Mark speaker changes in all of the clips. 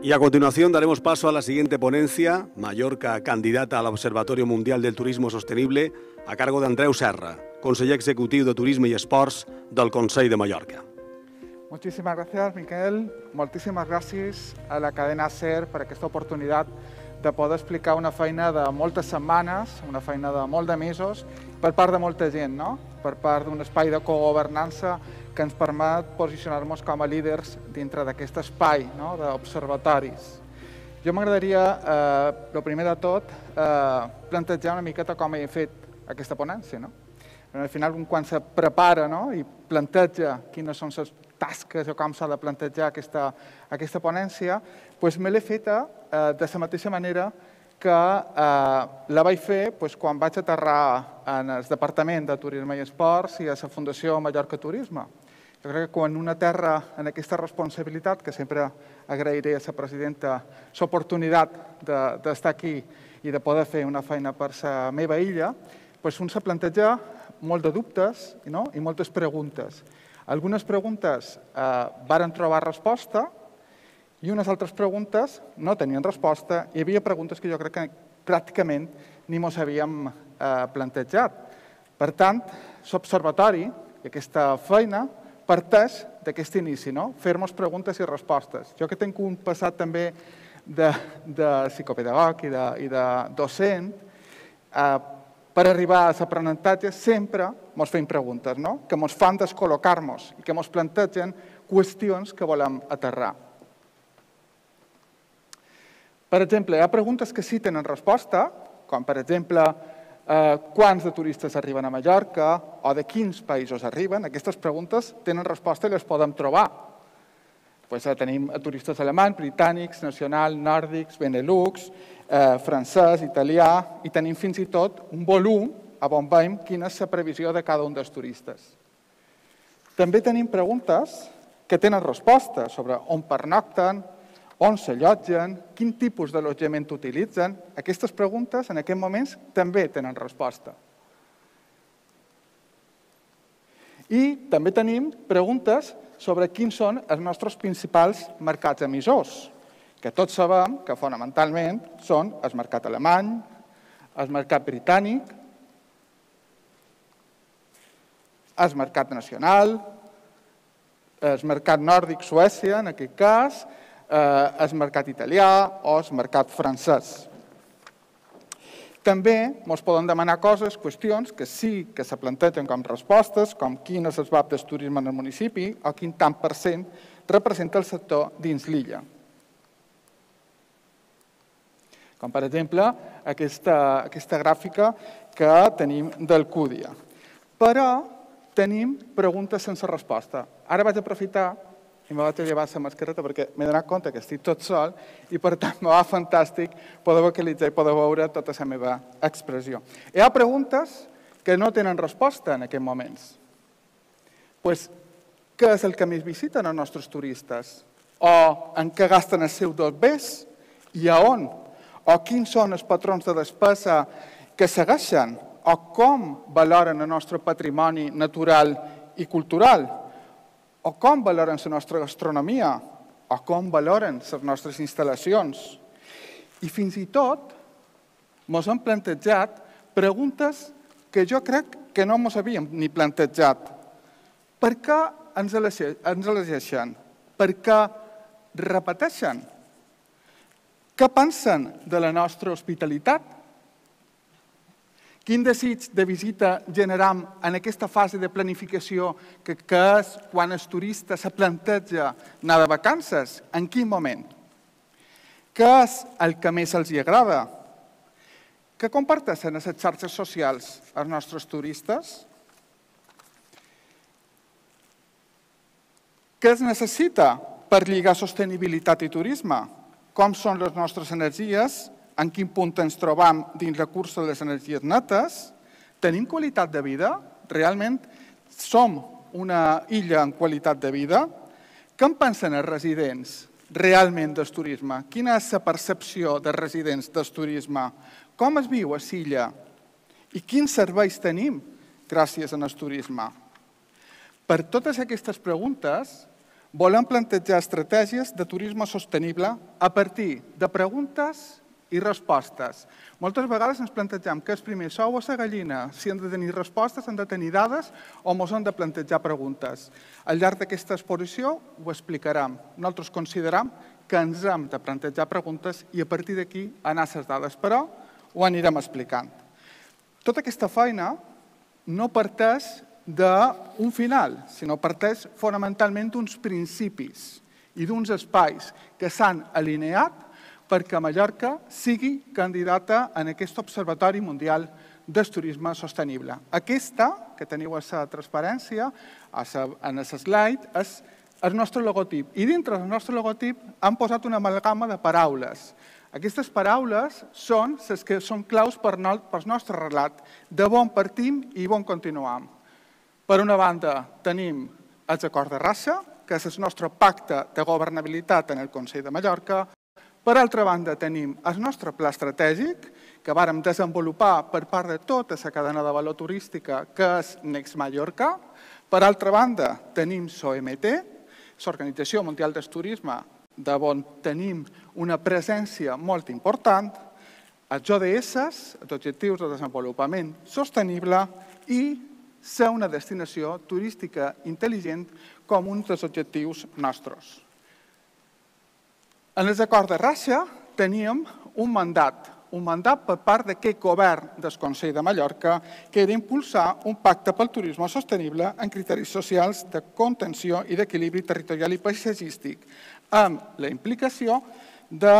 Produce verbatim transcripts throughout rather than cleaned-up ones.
Speaker 1: Y a continuación daremos paso a la siguiente ponencia, Mallorca, candidata al Observatorio Mundial del Turismo Sostenible, a cargo d'Andreu Serra, conseller executiu de Turisme i Esports del Consell de Mallorca.
Speaker 2: Muchísimas gracias, Miquel. Moltíssimes gràcies a la cadena SER per aquesta oportunitat de poder explicar una feina de moltes setmanes, una feina de molt de mesos, per part de molta gent, no? Per part d'un espai de cogovernança que ens permet posicionar-nos com a líders dintre d'aquest espai, no? D'observatoris. Jo m'agradaria, eh, el primer de tot, eh, plantejar una miqueta com he fet aquesta ponència, no? Al final, quan se prepara, no? I planteja quines són les tasques o com s'ha de plantejar aquesta, aquesta ponència, doncs me l'he feta eh, de la mateixa manera que eh, la vaig fer doncs, quan vaig aterrar en el Departament de Turisme i Esports i a la Fundació Mallorca Turisme. Jo crec que quan una terra en aquesta responsabilitat, que sempre agrairé a la presidenta l'oportunitat d'estar aquí i de poder fer una feina per la meva illa, doncs un se planteja molt de dubtes, no? I moltes preguntes. Algunes preguntes eh, varen trobar resposta i unes altres preguntes no tenien resposta. Hi havia preguntes que jo crec que pràcticament ni mos havíem eh, plantejat. Per tant, l'observatori i aquesta feina parteix d'aquest inici, no? Fer-nos preguntes i respostes. Jo que tinc un passat també de, de psicopedagog i de, i de docent, eh, per arribar a l'aprenentatge sempre ens fem preguntes, no? Que ens fan descol·locar-nos i que ens plantegen qüestions que volem aterrar. Per exemple, hi ha preguntes que sí tenen resposta, com per exemple eh, quants de turistes arriben a Mallorca o de quins països arriben. Aquestes preguntes tenen resposta i les podem trobar. Pues, eh, tenim turistes alemanys, britànics, nacionals, nòrdics, benelux, eh, francès, italià, i tenim fins i tot un volum a on veiem quina és la previsió de cada un dels turistes. També tenim preguntes que tenen resposta sobre on pernocten, on s'allotgen, quin tipus d'allotjament utilitzen. Aquestes preguntes en aquests moments també tenen resposta. I també tenim preguntes sobre quins són els nostres principals mercats emissors, que tots sabem que fonamentalment són el mercat alemany, el mercat britànic, el mercat nacional, el mercat nòrdic, Suècia, en aquest cas, el mercat italià o el mercat francès. També ens poden demanar coses, qüestions, que sí que se plantegen com respostes, com quin és el V A P del turisme en el municipi o quin tant per cent representa el sector dins l'illa. Com, per exemple, aquesta, aquesta gràfica que tenim del Cúdia. Però tenim preguntes sense resposta. Ara vaig aprofitar i me vaig a llevar la mascareta perquè m'he donat compte que estic tot sol i, per tant, me va fantàstic poder vocalitzar i poder veure tota la meva expressió. Hi ha preguntes que no tenen resposta en aquests moments. Pues, què és el que més visiten els nostres turistes? O en què gasten els seus dobbers i a on? O quins són els patrons de despesa que segueixen? O com valoren el nostre patrimoni natural i cultural? O com valoren la nostra gastronomia, o com valoren les nostres instal·lacions. I fins i tot ens hem plantejat preguntes que jo crec que no ens havíem ni plantejat. Per què ens elegeixen? Per què repeteixen? Què pensen de la nostra hospitalitat? Quin desig de visita generam en aquesta fase de planificació que és quan el turista se planteja anar de vacances? En quin moment? Què és el que més els agrada? Què comparteixen a les xarxes socials els nostres turistes? Què es necessita per lligar sostenibilitat i turisme? Com són les nostres energies? En quin punt ens trobam dins la cursa de les energies netes? Tenim qualitat de vida? Realment som una illa en qualitat de vida? Què en pensen els residents realment del turisme? Quina és la percepció dels residents del turisme? Com es viu a l'illa? I quins serveis tenim gràcies al turisme? Per totes aquestes preguntes Volem plantejar estratègies de turisme sostenible a partir de preguntes i respostes. Moltes vegades ens plantegem què és primer, l'ou o la gallina, si hem de tenir respostes, hem de tenir dades o ens hem de plantejar preguntes. Al llarg d'aquesta exposició ho explicarem. Nosaltres considerem que ens hem de plantejar preguntes i a partir d'aquí anar a les dades, però ho anirem explicant. Tota aquesta feina no parteix d'un final, sinó parteix fonamentalment d'uns principis i d'uns espais que s'han alineat perquè Mallorca sigui candidata en aquest Observatori Mundial del Turisme Sostenible. Aquesta, que teniu a la transparència, en el slide, és el nostre logotip. I dintre del nostre logotip hem posat una amalgama de paraules. Aquestes paraules són les que són claus per al nostre relat, de on partim i on continuem. Per una banda, tenim els acords de Rassa, que és el nostre pacte de governabilitat en el Consell de Mallorca. Per altra banda, tenim el nostre pla estratègic, que vàrem desenvolupar per part de tota la cadena de valor turística, que és Next Mallorca. Per altra banda, tenim l'O M T, l'Organització Mundial del Turisme, d'on tenim una presència molt important, els O D S, els Objectius de Desenvolupament Sostenible, i ser una destinació turística intel·ligent com un dels objectius nostres. En els acords de Rassa teníem un mandat, un mandat per part d'aquest govern del Consell de Mallorca, que era impulsar un pacte pel turisme sostenible en criteris socials de contenció i d'equilibri territorial i paisatgístic, amb la implicació de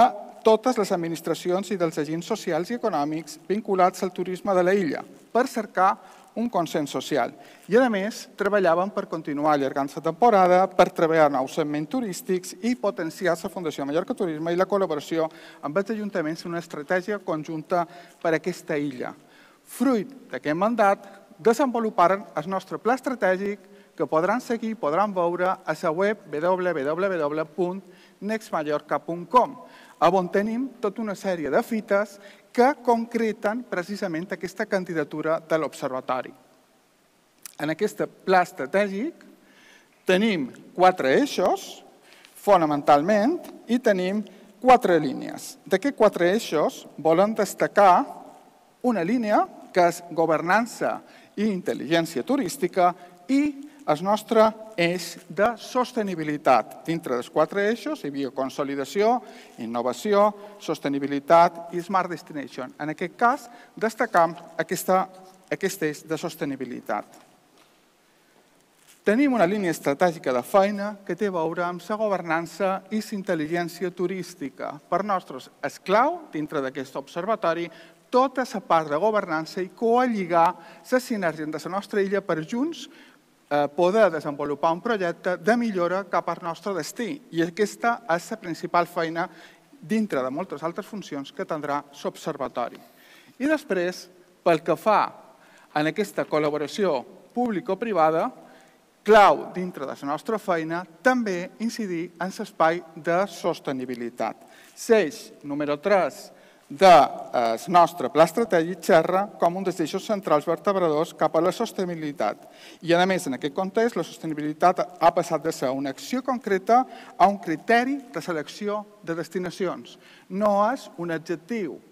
Speaker 2: totes les administracions i dels agents socials i econòmics vinculats al turisme de l'illa, per cercar un consens social. I, a més, treballàvem per continuar allargant la temporada, per treballar nous segments turístics i potenciar la Fundació Mallorca Turisme i la col·laboració amb els ajuntaments en una estratègia conjunta per a aquesta illa. Fruit d'aquest mandat, desenvoluparen el nostre pla estratègic que podran seguir i podran veure a la web w w w punt next mallorca punt com, on tenim tota una sèrie de fites que concreten precisament aquesta candidatura de l'Observatori. En aquest pla estratègic tenim quatre eixos, fonamentalment, i tenim quatre línies. D'aquests quatre eixos volem destacar una línia que és governança i intel·ligència turística i el nostre eix de sostenibilitat. Dintre dels quatre eixos hi havia consolidació, innovació, sostenibilitat i Smart Destination. En aquest cas, destacam aquest eix de sostenibilitat. Tenim una línia estratègica de feina que té a veure amb la governança i la intel·ligència turística. Per nosaltres és clau, dintre d'aquest observatori, tota la part de governança i coalligar la sinergia de la nostra illa per junts poder desenvolupar un projecte de millora cap al nostre destí. I aquesta és la principal feina dintre de moltes altres funcions que tindrà l'Observatori. I després, pel que fa en aquesta col·laboració público-privada, clau dintre de la nostra feina també incidir en l'espai de sostenibilitat. L'eix número tres del nostre pla estratègic xerra com un dels eixos centrals vertebradors cap a la sostenibilitat. I, a més, en aquest context, la sostenibilitat ha passat de ser una acció concreta a un criteri de selecció de destinacions. No és un adjectiu,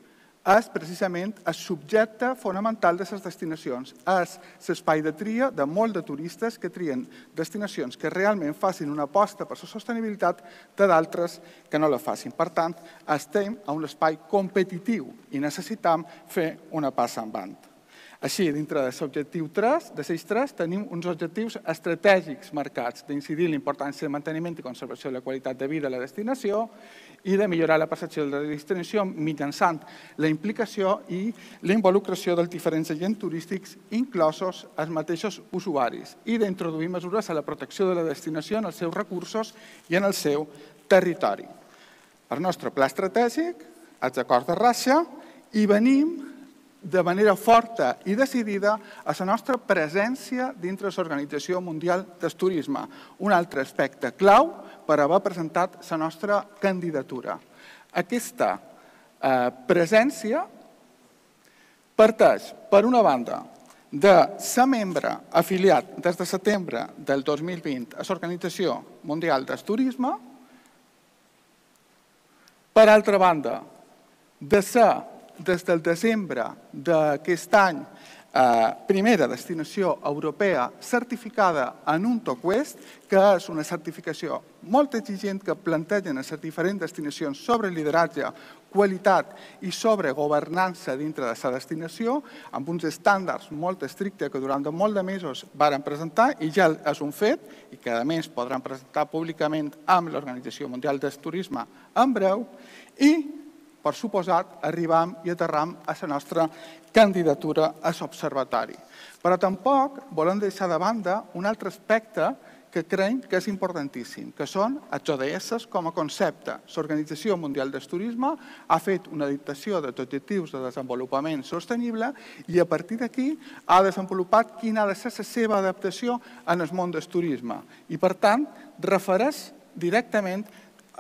Speaker 2: és precisament el subjecte fonamental de les destinacions. És l'espai de tria de molts de turistes que trien destinacions que realment facin una aposta per la sostenibilitat de d'altres que no la facin. Per tant, estem a un espai competitiu i necessitem fer una passa endavant. Així, dintre de l'objectiu tres, de l'eix tres, tenim uns objectius estratègics marcats d'incidir en la importància de manteniment i conservació de la qualitat de vida a la destinació i de millorar la percepció de la destinació mitjançant la implicació i la involucració dels diferents agents turístics, inclosos els mateixos usuaris, i d'introduir mesures a la protecció de la destinació en els seus recursos i en el seu territori. El nostre pla estratègic, els acords de Rassa, i venim de manera forta i decidida a la nostra presència dintre de l'Organització Mundial del Turisme, un altre aspecte clau per haver presentat la nostra candidatura. Aquesta presència parteix, per una banda, de ser membre afiliat des de setembre del dos mil vint a l'Organització Mundial del Turisme. Per altra banda, de ser des del desembre d'aquest any primera destinació europea certificada en un TOC-West, que és una certificació molt exigent que plantegen a les diferents destinacions sobre lideratge, qualitat i sobre governança dintre de la destinació, amb uns estàndards molt estrictes que durant molt de mesos varen presentar i ja és un fet i que a més podran presentar públicament amb l'Organització Mundial del Turisme en breu i, per suposat, arribam i aterram a la nostra candidatura a l'Observatori. Però tampoc volem deixar de banda un altre aspecte que creiem que és importantíssim, que són els O D S com a concepte. L'Organització Mundial del Turisme ha fet una dictació d'objectius de desenvolupament sostenible i a partir d'aquí ha desenvolupat quina ha de ser la seva adaptació en el món del turisme i, per tant, refereix directament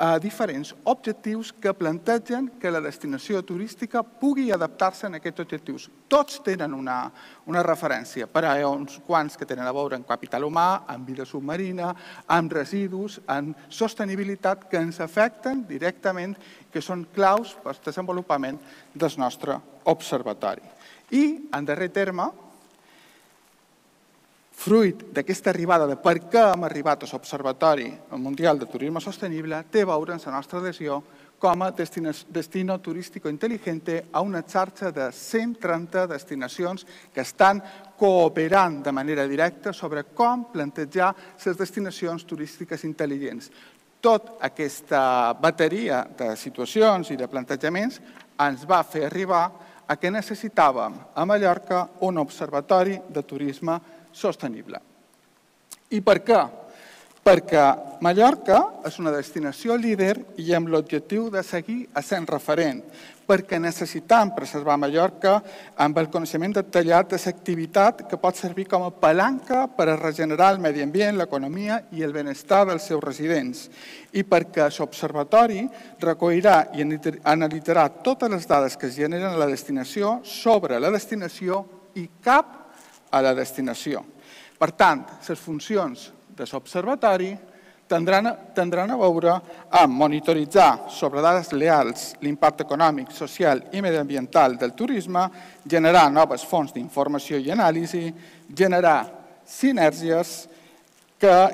Speaker 2: a diferents objectius que plantegen que la destinació turística pugui adaptar-se a aquests objectius. Tots tenen una, una referència, però hi ha uns quants que tenen a veure amb capital humà, amb vida submarina, amb residus, amb sostenibilitat que ens afecten directament, que són claus per al desenvolupament del nostre observatori. I, en darrer terme, fruit d'aquesta arribada de per què hem arribat a l'Observatori Mundial de Turisme Sostenible, té a veure amb la nostra adhesió com a destino turístico inteligente a una xarxa de cent trenta destinacions que estan cooperant de manera directa sobre com plantejar les destinacions turístiques intel·ligents. Tota aquesta bateria de situacions i de plantejaments ens va fer arribar a que necessitàvem a Mallorca un observatori de turisme sostenible. I per què? Perquè Mallorca és una destinació líder i amb l'objectiu de seguir essent referent, perquè necessitam preservar Mallorca amb el coneixement detallat de l'activitat que pot servir com a palanca per a regenerar el medi ambient, l'economia i el benestar dels seus residents. I perquè l'Observatori recollirà i analitzarà totes les dades que es generen a la destinació sobre la destinació i cap a la destinació. Per tant, les funcions de l'Observatori tindran a veure amb monitoritzar sobre dades reals l'impacte econòmic, social i mediambiental del turisme, generar noves fonts d'informació i anàlisi, generar sinergies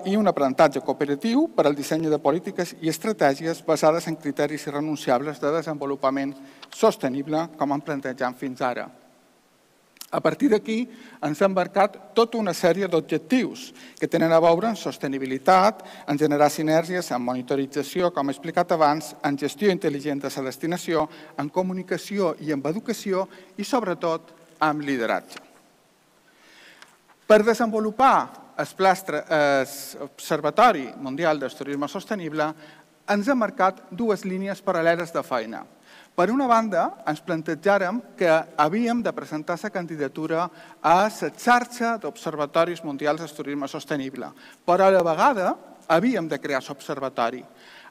Speaker 2: i un aprenentatge cooperatiu per al disseny de polítiques i estratègies basades en criteris irrenunciables de desenvolupament sostenible, com hem plantejat fins ara. A partir d'aquí ens ha embarcat tota una sèrie d'objectius que tenen a veure amb sostenibilitat, en generar sinergies, en monitorització, com he explicat abans, en gestió intel·ligent de la destinació, en comunicació i en educació i, sobretot, en lideratge. Per desenvolupar l'Observatori Mundial del Turisme Sostenible ens ha marcat dues línies paral·leles de feina. Per una banda, ens plantejàrem que havíem de presentar la candidatura a la xarxa d'observatoris mundials del turisme sostenible, però a la vegada havíem de crear l'observatori.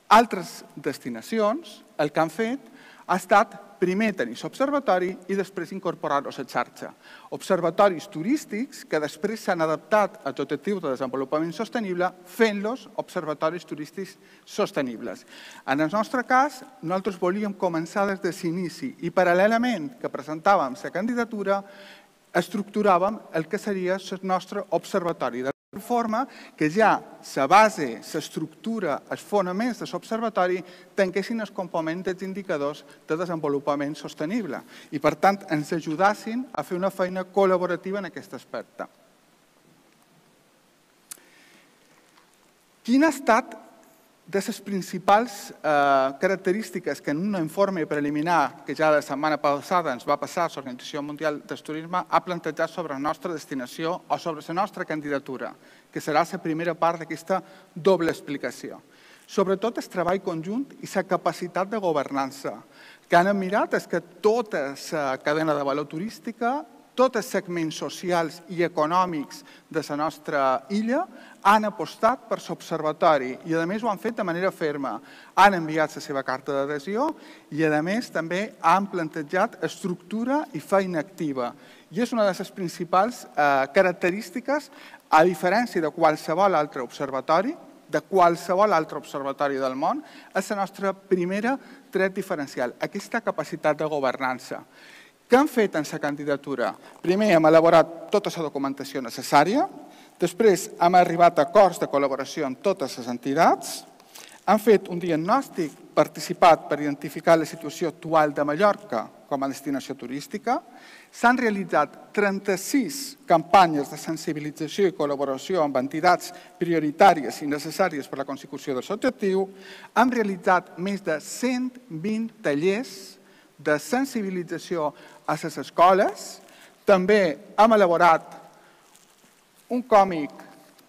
Speaker 2: Altres destinacions el que han fet ha estat primer tenir l'observatori i després incorporar-lo a la xarxa. Observatoris turístics que després s'han adaptat als objectius de desenvolupament sostenible fent-los observatoris turístics sostenibles. En el nostre cas, nosaltres volíem començar des de l'inici i paral·lelament que presentàvem la candidatura, estructuràvem el que seria el nostre observatori, de forma que ja la base, l'estructura, els fonaments de l'observatori tanquessin els components dels indicadors de desenvolupament sostenible i, per tant, ens ajudassin a fer una feina col·laborativa en aquest aspecte. Quina ha estat de les principals característiques que en un informe preliminar que ja la setmana passada ens va passar a l'Organització Mundial del Turisme ha plantejat sobre la nostra destinació o sobre la nostra candidatura, que serà la primera part d'aquesta doble explicació. Sobretot el treball conjunt i la capacitat de governança. El que han mirat és que tota la cadena de valor turística, tots els segments socials i econòmics de la nostra illa han apostat per l'observatori i, a més, ho han fet de manera ferma. Han enviat la seva carta d'adhesió i, a més, també han plantejat estructura i feina activa. I és una de les principals característiques, a diferència de qualsevol altre observatori, de qualsevol altre observatori del món, és la nostra primera tret diferencial, aquesta capacitat de governança. Què hem fet en la candidatura? Primer, hem elaborat tota la documentació necessària, després hem arribat a acords de col·laboració amb totes les entitats, hem fet un diagnòstic participat per identificar la situació actual de Mallorca com a destinació turística, s'han realitzat trenta-sis campanyes de sensibilització i col·laboració amb entitats prioritàries i necessàries per a la consecució del seu objectiu, hem realitzat més de cent vint tallers de sensibilització a les escoles, també hem elaborat un còmic,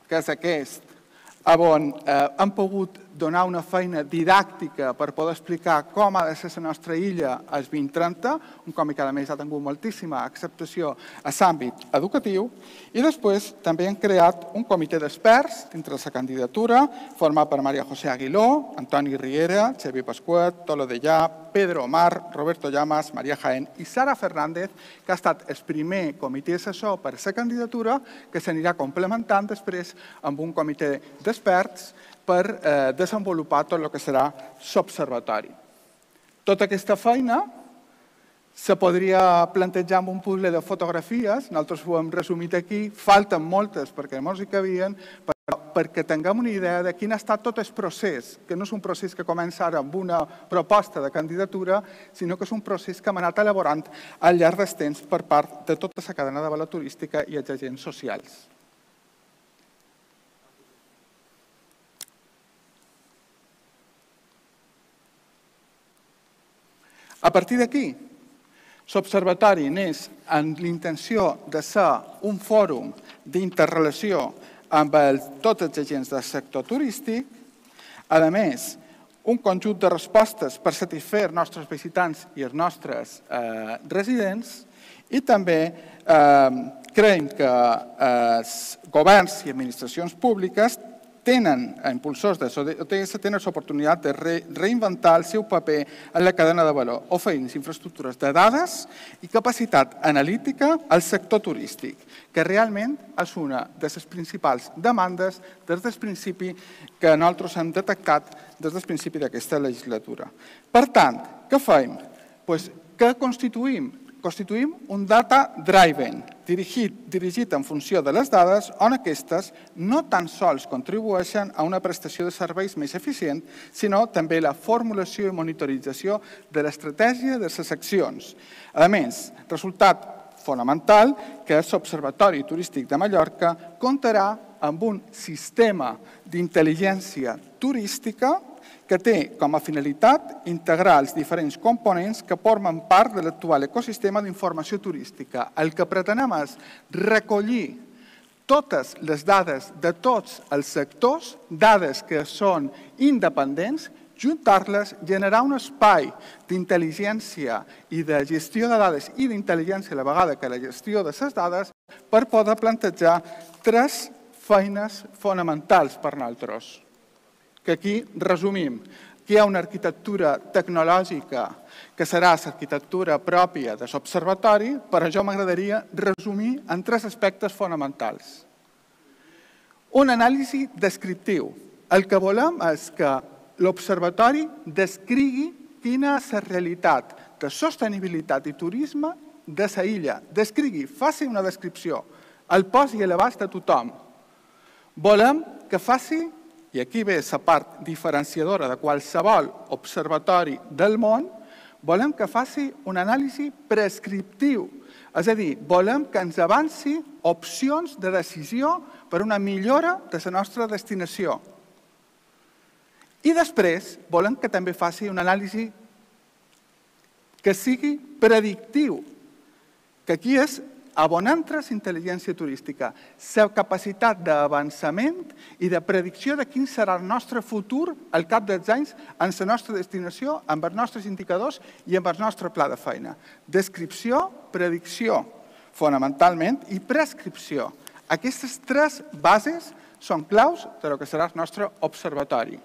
Speaker 2: que és aquest, on hem pogut donar una feina didàctica per poder explicar com ha de ser la nostra illa al vint trenta, un còmic que a més ha tingut moltíssima acceptació a l'àmbit educatiu, i després també hem creat un comitè d'experts dintre de la candidatura, format per Maria José Aguiló, Antoni Riera, Xavier Pasquet, Tolo Dellà, Pedro Omar, Roberto Llamas, Maria Jaén i Sara Fernández, que ha estat el primer comitè assessor per a la candidatura, que s'anirà complementant després amb un comitè d'experts per desenvolupar tot el que serà l'observatori. Tota aquesta feina se podria plantejar amb un puzzle de fotografies, nosaltres ho hem resumit aquí, falten moltes perquè no hi cabien, però perquè tinguem una idea de quin ha estat tot el procés, que no és un procés que comença ara amb una proposta de candidatura, sinó que és un procés que hem anat elaborant al llarg dels temps per part de tota la cadena de valor turística i els agents socials. A partir d'aquí, l'Observatori neix amb l'intenció de ser un fòrum d'interrelació amb tots els agents del sector turístic, a més, un conjunt de respostes per satisfer els nostres visitants i els nostres residents, i també creiem que els governs i administracions públiques tenen, impulsors de l'O T S, tenen l'oportunitat de reinventar el seu paper en la cadena de valor, oferint infraestructures de dades i capacitat analítica al sector turístic, que realment és una de les principals demandes des del principi que nosaltres hem detectat des del principi d'aquesta legislatura. Per tant, què fem? Què constituïm? Constituïm un data driven, dirigit en funció de les dades, on aquestes no tan sols contribueixen a una prestació de serveis més eficient, sinó també la formulació i monitorització de l'estratègia de les accions. A més, resultat fonamental que l'Observatori Turístic de Mallorca comptarà amb un sistema d'intel·ligència turística que té com a finalitat integrar els diferents components que formen part de l'actual ecosistema d'informació turística. El que pretenem és recollir totes les dades de tots els sectors, dades que són independents, juntar-les, generar un espai d'intel·ligència i de gestió de dades i d'intel·ligència a la vegada que la gestió de les dades per poder plantejar tres feines fonamentals per nosaltres. Que aquí resumim, que hi ha una arquitectura tecnològica que serà l'arquitectura pròpia de l'observatori, però jo m'agradaria resumir en tres aspectes fonamentals. Un anàlisi descriptiu. El que volem és que l'observatori descrigui quina és la realitat de sostenibilitat i turisme de la illa. Descrigui, faci una descripció, el posi a l'abast de tothom. Volem que faci, i aquí ve la part diferenciadora de qualsevol observatori del món, volem que faci un anàlisi prescriptiu. És a dir, volem que ens avanci opcions de decisió per una millora de la nostra destinació. I després volem que també faci un anàlisi que sigui predictiu, que aquí és on entra la intel·ligència turística, la capacitat d'avançament i de predicció de quin serà el nostre futur al cap dels anys en la nostra destinació, amb els nostres indicadors i amb el nostre pla de feina. Descripció, predicció, fonamentalment, i prescripció. Aquestes tres bases són claus del que serà el nostre observatori.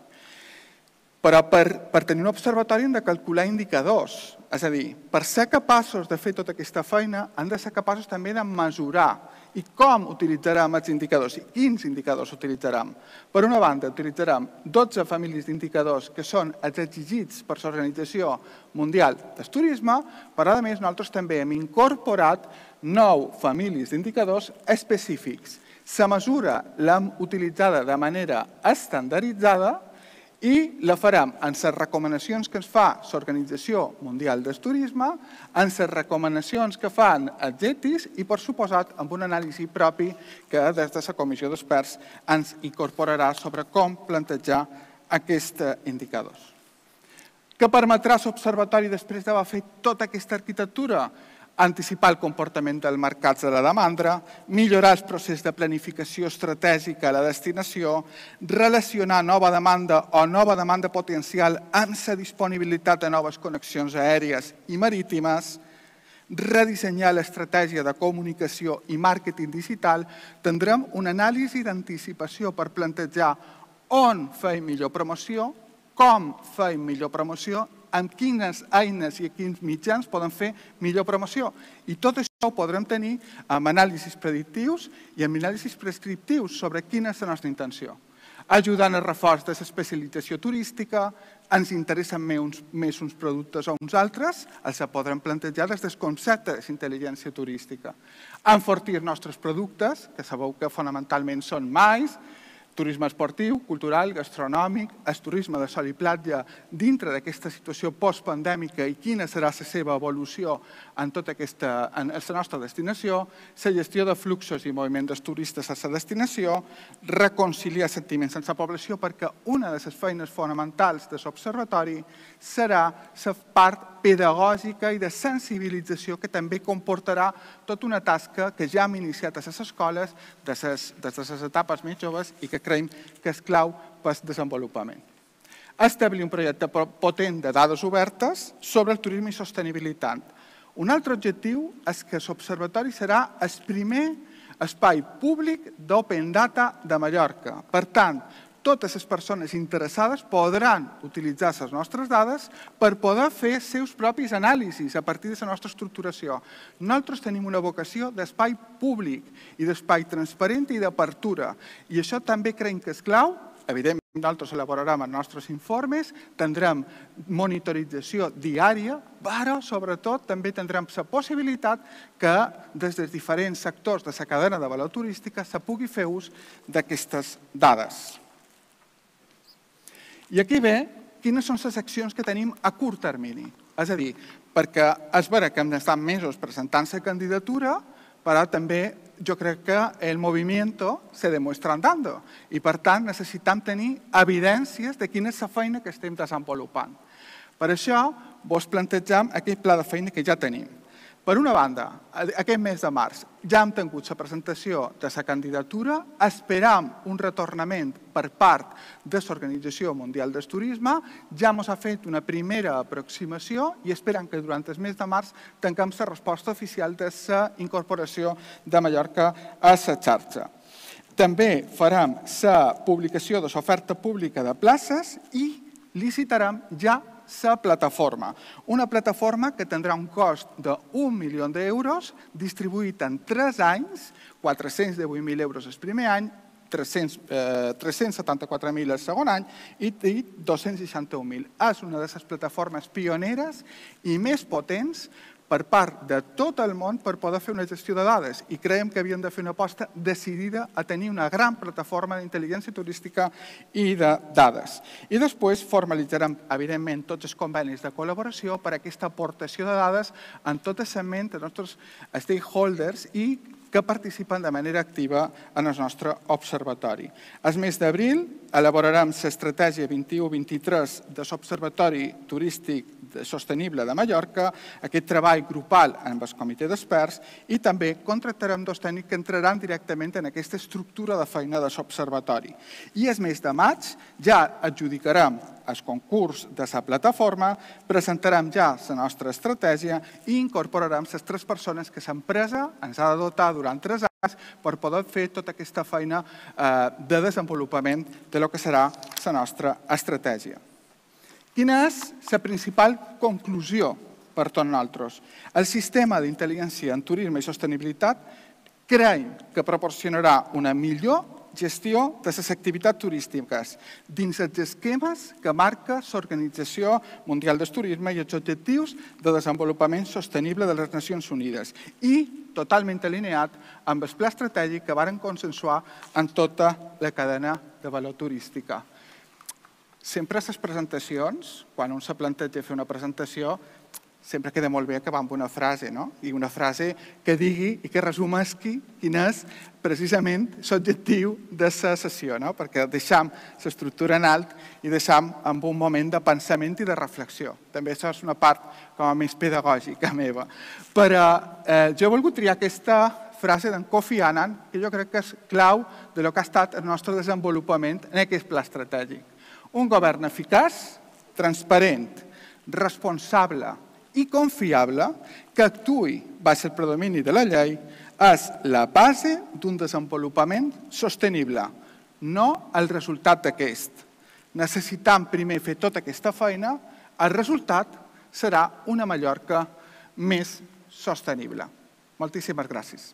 Speaker 2: Però per tenir un observatori hem de calcular indicadors. És a dir, per ser capaços de fer tota aquesta feina, hem de ser capaços també de mesurar i com utilitzarem els indicadors i quins indicadors utilitzarem. Per una banda, utilitzarem dotze famílies d'indicadors que són els exigits per l'Organització Mundial del Turisme, però a més nosaltres també hem incorporat nou famílies d'indicadors específics. La mesura l'hem utilitzada de manera estandarditzada i la farem en les recomanacions que ens fa l'Organització Mundial del Turisme, en les recomanacions que fan els E T Is i, per suposat, amb un anàlisi propi que des de la Comissió d'Experts ens incorporarà sobre com plantejar aquests indicadors. Què permetrà l'Observatori després d'haver fet tota aquesta arquitectura? Anticipar el comportament dels mercats de la demanda, millorar el procés de planificació estratègica a la destinació, relacionar nova demanda o nova demanda potencial amb la disponibilitat de noves connexions aèries i marítimes, redissenyar l'estratègia de comunicació i màrqueting digital, tindrem una anàlisi d'anticipació per plantejar on feim millor promoció, com feim millor promoció, amb quines eines i quins mitjans poden fer millor promoció. I tot això ho podrem tenir amb anàlisis predictius i amb anàlisis prescriptius sobre quina és la nostra intenció. Ajudant al reforç de l'especialització turística, ens interessen més uns productes o uns altres, els podrem plantejar des del concepte d'intel·ligència turística. Enfortir els nostres productes, que sabeu que fonamentalment són mais, turisme esportiu, cultural, gastronòmic, el turisme de sol i platja dintre d'aquesta situació postpandèmica i quina serà la seva evolució en tota aquesta, en la nostra destinació, la gestió de fluxos i moviment dels turistes a la destinació, reconciliar sentiments amb la població, perquè una de les feines fonamentals de l'Observatori serà la part pedagògica i de sensibilització que també comportarà tota una tasca que ja hem iniciat a les escoles des de les etapes més joves i que creiem que és clau per al desenvolupament. Establir un projecte potent de dades obertes sobre el turisme i sostenibilitat. Un altre objectiu és que l'Observatori serà el primer espai públic d'Open Data de Mallorca. Per tant, totes les persones interessades podran utilitzar les nostres dades per poder fer els seus propis anàlisis a partir de la nostra estructuració. Nosaltres tenim una vocació d'espai públic i d'espai transparent i d'apertura. I això també creiem que és clau. Evidentment, nosaltres elaborarem els nostres informes, tindrem monitorització diària, però sobretot també tindrem la possibilitat que des dels diferents sectors de la cadena de valor turística se pugui fer ús d'aquestes dades. I aquí ve quines són les accions que tenim a curt termini. És a dir, perquè és vera que hem d'estar mesos presentant la candidatura, però també jo crec que el moviment se demuestra andando i, per tant, necessitem tenir evidències de quina és la feina que estem desenvolupant. Per això, vos plantegem aquest pla de feina que ja tenim. Per una banda, aquest mes de març ja hem tingut la presentació de la candidatura, esperam un retornament per part de l'Organització Mundial del Turisme, ja ens ha fet una primera aproximació i esperam que durant el mes de març tanquem la resposta oficial de la incorporació de Mallorca a la xarxa. També farem la publicació de l'oferta pública de places i licitarem ja la plataforma. Una plataforma que tindrà un cost d'un milió d'euros distribuït en tres anys, quatre-cents divuit mil euros el primer any, tres-cents setanta-quatre mil el segon any i dos-cents seixanta-un mil. És una de les plataformes pioneres i més potents per part de tot el món per poder fer una gestió de dades i creiem que havíem de fer una aposta decidida a tenir una gran plataforma d'intel·ligència turística i de dades. I després formalitzarem, evidentment, tots els convenis de col·laboració per a aquesta aportació de dades en tot el segment dels nostres stakeholders i que participen de manera activa en el nostre observatori. El mes d'abril elaborarem l'estratègia vint-i-u vint-i-tres de l'Observatori Turístic Sostenible de Mallorca, aquest treball grupal amb el comitè d'experts i també contractarem dos tècnics que entraran directament en aquesta estructura de feina de l'Observatori. I el mes de maig ja adjudicarem el concurs de la plataforma, presentarem ja la nostra estratègia i incorporarem les tres persones que l'empresa ens ha de dotar durant tres anys per poder fer tota aquesta feina de desenvolupament del que serà la nostra estratègia. Quina és la principal conclusió per tots nosaltres. El sistema d'intel·ligència en turisme i sostenibilitat creiem que proporcionarà una millor gestió de les activitats turístiques dins els esquemes que marca l'Organització Mundial del Turisme i els objectius de desenvolupament sostenible de les Nacions Unides i totalment alineat amb el pla estratègic que varen consensuar en tota la cadena de valor turística. Sempre a les presentacions, quan un se planteja fer una presentació, sempre queda molt bé acabar amb una frase, no? I una frase que digui i que resumesqui quin és precisament l'objectiu de la sessió, no? Perquè deixam l'estructura en alt i deixam amb un moment de pensament i de reflexió. També això és una part com a més pedagògica meva. Però eh, jo he volgut triar aquesta frase d'en Kofi Annan, que jo crec que és clau de lo que ha estat el nostre desenvolupament en aquest pla estratègic. Un govern eficaç, transparent, responsable i confiable que actuï baix el predomini de la llei és la base d'un desenvolupament sostenible, no el resultat d'aquest. Necessitam primer fer tota aquesta feina, el resultat serà una Mallorca més sostenible. Moltíssimes gràcies.